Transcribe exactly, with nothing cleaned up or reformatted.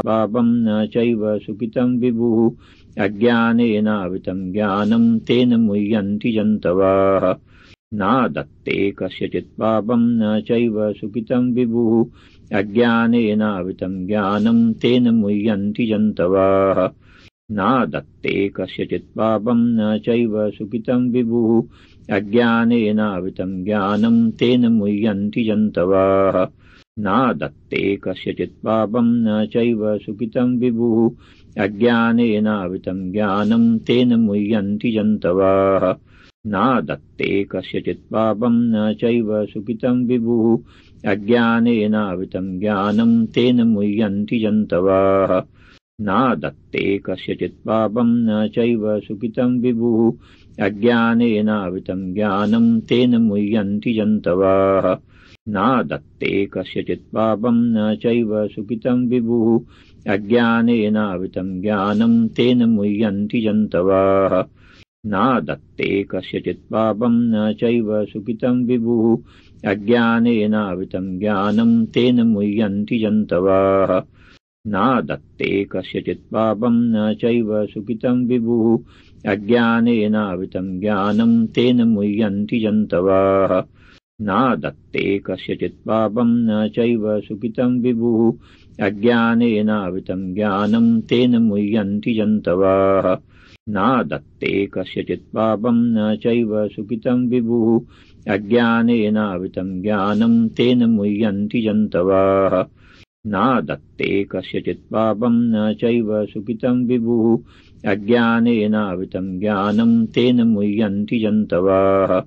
पापं न चैव सुकृतं विभुः अज्ञानेनावृतं ज्ञानं तेन मुह्यन्ति जन्तवः न दत्ते कस्यचित् पापं न चैव सुकृतं विभुः अज्ञानेनावृतं ज्ञानं तेन मुह्यन्ति जन्तवः न दत्ते कस्यचित् पापं न चैव सुकृतं विभुः अज्ञानेनावृतं ज्ञानं तेन मुह्यन्ति जन्तवः न दत्ते कस्यचित् पापं न चैव सुकृतं विभुः अज्ञानेनावृतं ज्ञानं तेन मुह्यन्ति जन्तवः न दत्ते कस्यचित् पापं न चैव सुकृतं विभुः अज्ञानेनावृतं ज्ञानं तेन मुह्यन्ति जन्तवः न दत्ते कस्यचित् पापं न चैव सुकृतं विभुः अज्ञानेनावृतं ज्ञानं तेन मुह्यन्ति जन्तवः न दत्ते कस्यचित् पापं न चैव सुकृतं विभुः अज्ञानेनावृतं ज्ञानं तेन मुह्यन्ति जन्तवः न दत्ते कस्यचित् पापं न चैव सुकृतं विभुः अज्ञानेनावृतं ज्ञानं तेन मुह्यन्ति जन्तवः न दत्ते कस्यचित् पापं न चैव सुकृतं विभुः अज्ञानेनावृतं ज्ञानं तेन मुह्यन्ति जन्तवः न दत्ते कस्यचित् पापं न चैव सुकृतं विभुः अज्ञानेनावृतं ज्ञानं तेन मुह्यन्ति जन्तवः न दत्ते कस्यचित् पापं न चैव सुकृतं विभुः अज्ञानेनावृतं ज्ञानं तेन मुह्यन्ति जन्तवः न दत्ते कस्यचित् पापं न चैव सुकृतं विभुः अज्ञानेनावृतं ज्ञानं तेन मुह्यन्ति जन्तवः